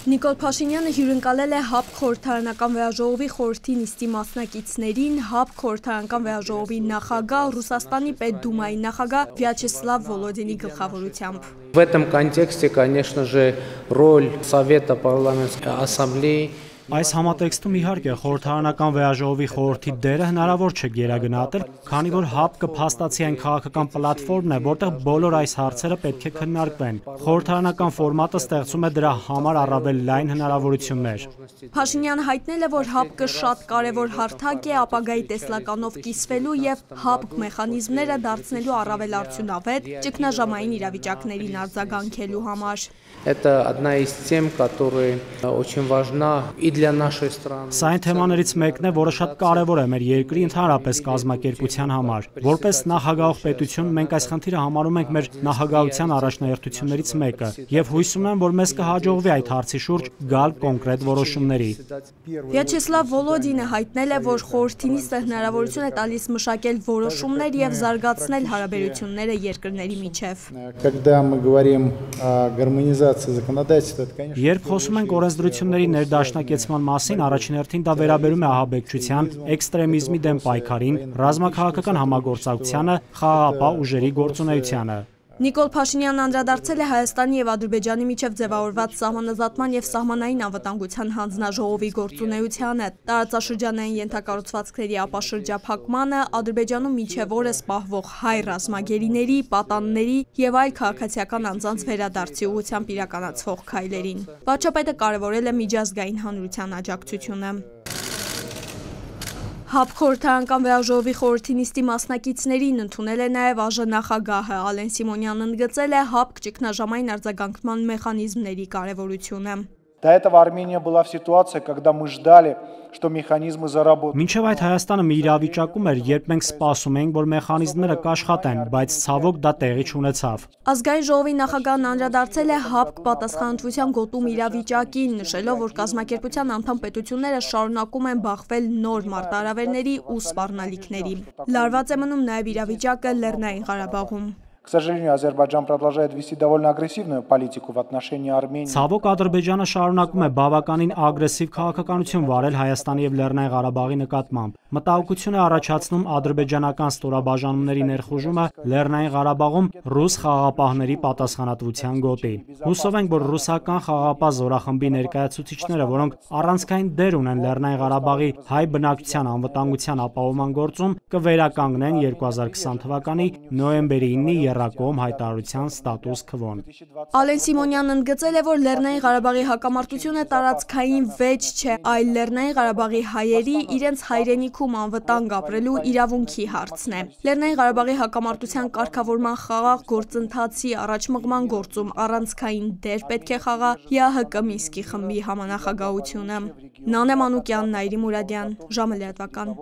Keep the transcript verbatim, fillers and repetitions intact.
Նիկոլ Փաշինյանը հյուրընկալել է ՀԱՊԿ խորհրդարանական վեաժողովի խորհրդի նիստի մասնակիցներին, ՀԱՊԿ խորհրդարանական վեաժողովի նախագահ, Ռուսաստանի Պետդումայի նախագահ Վյաչեսլավ Վոլոդինի գլխավորությամբ։ В этом контексте, конечно же, роль Совета парламентской ассамблеи. Այս համատեքստում իհարկե խորհրդարանական վեաժողովի խորհրդի դերը հնարավոր չէ գերագնահատել, քանի որ ՀԱՊԿ-ը փաստացի այն քաղաքական պլատֆորմն է, որտեղ բոլոր այս հարցերը պետք է քննարկվեն։ Խորհրդարանական ֆորմատը ստեղծում է դրա համար առավել լայն հնարավորություններ։ Փաշինյանը հայտնել է, որ ՀԱՊԿ-ը շատ կարևոր հարթակ է ապագայի տեսլականով կիսվելու եւ ՀԱՊԿ մեխանիզմները դարձնելու առավել արդյունավետ ճգնաժամային իրավիճակներին արձագանքելու համար։ Это одна из тем, которая очень важна и для нашей страны. Սա այն թեմաներից մեկն է, որը շատ կարևոր է մեր երկրի ընդհանրապես կազմակերպության համար։ Որպես նախագահող պետություն մենք այս խնդիրը համարում ենք մեր նախագահության առաջնահերթություններից մեկը եւ հույս ունեմ, որ մեզ կհաջողվի այդ հարցի շուրջ գալ կոնկրետ որոշումների։ Վյաչեսլավ Վոլոդինը հայտնել է, որ խորհրդի նիստը հնարավորություն է տալիս մշակել որոշումներ եւ զարգացնել հարաբերությունները երկրների միջև։ Когда мы говорим о гармонизации законодательства, это, конечно, Երբ խոսում ենք օրենսդրությունների ներդաշնակեցման մասին, առաջին հերթին դա վերաբերում է ահաբեկչության, էքստրեմիզմի դեմ պայքարին, ռազմաքաղաքական համագործակցությանը, խաղաղապահ ուժերի գործունեությանը։ Նիկոլ Փաշինյանն անդրադարձել է Հայաստանի եւ Ադրբեջանի միջև ձևավորված սահմանազատման եւ սահմանային անվտանգության հանձնաժողովի գործունեությանը, տարածաշրջանային ենթակառուցվածքների ապաշրջափակմանը, Ադրբեջանում մինչև օրս պահվող հայ ռազմագերիների, պատանների եւ այլ քաղաքացիական անձանց վերադարձի ուղղությամբ իրականացվող քայլերին։ Վարչապետը կարևորել է միջազգային հանրության աջակցությունը։ ՀԱՊԿ խորհրդարանական վեաժողովի խորհրդի նիստի մասնակիցներին ընդունել է նաև ԱԺ նախագահը Ալեն Սիմոնյանն ընդգծել է ՀԱՊԿ ճգնաժամային արձագանքման մեխանիզմների կարևորությունը։ До этого Армения была в ситуации, когда мы ждали, что механизмы заработают. Մինչև այդ Հայաստանը մի իրավիճակում էր, երբ մենք սպասում էինք, որ մեխանիզմները կաշխատեն, բայց ցավոք դա տեղի չունեցավ։ Ազգային ժողովի նախագահն անդրադարձել է ՀԱՊԿ պատասխանատվության գոտում իրավիճակին, նշելով, որ կազմակերպության անդամ պետությունները շարունակում են բախվել նոր մարտահրավերների ու սպառնալիքների։ Լարված է մնում նաև իրավիճակը Լեռնային Ղարաբաղում։ К сожалению, Азербайджан продолжает вести довольно агрессивную политику в отношении Армении. Ցավոք Ադրբեջանը շարունակում է բավականին ագրեսիվ քաղաքականություն վարել Հայաստանի եւ Լեռնային Ղարաբաղի նկատմամբ։ Մտահոգություն է առաջացնում ադրբեջանական ստորաբաժանումների ներխուժումը Լեռնային Ղարաբաղում ռուս խաղաղապահների պատասխանատվության գոտի։ Հուսով ենք, որ ռուսական խաղաղապահ զորախմբի ներկայացուցիչները, որոնք առանցքային դեր ունեն Լեռնային Ղարաբաղի հայ բնակչության անվտանգության ապահովման գործում, կվերականգնեն երկու հազար քսան թվականի նոյեմբերի ինը Եռակողմ հայտարարության ստատուս քվոն։ Ալեն Սիմոնյանն ընդգծել է, որ Լեռնային Ղարաբաղի հակամարտությունը տարածքային վեճ չէ, այլ Լեռնային Ղարաբաղի հայերի իրենց հայրենիքում անվտանգ ապրելու իրավունքի հարցն է։ Լեռնային Ղարաբաղի հակամարտության կարգավորման խաղաղ գործընթացի առաջմղման գործում առանցքային դեր պետք է խաղա ԵԱՀԿ Մինսկի խմբի համանախագահությունը։ Նանե Մանուկյան, Նայիրի Մուրադյան, ժամը լրատվական։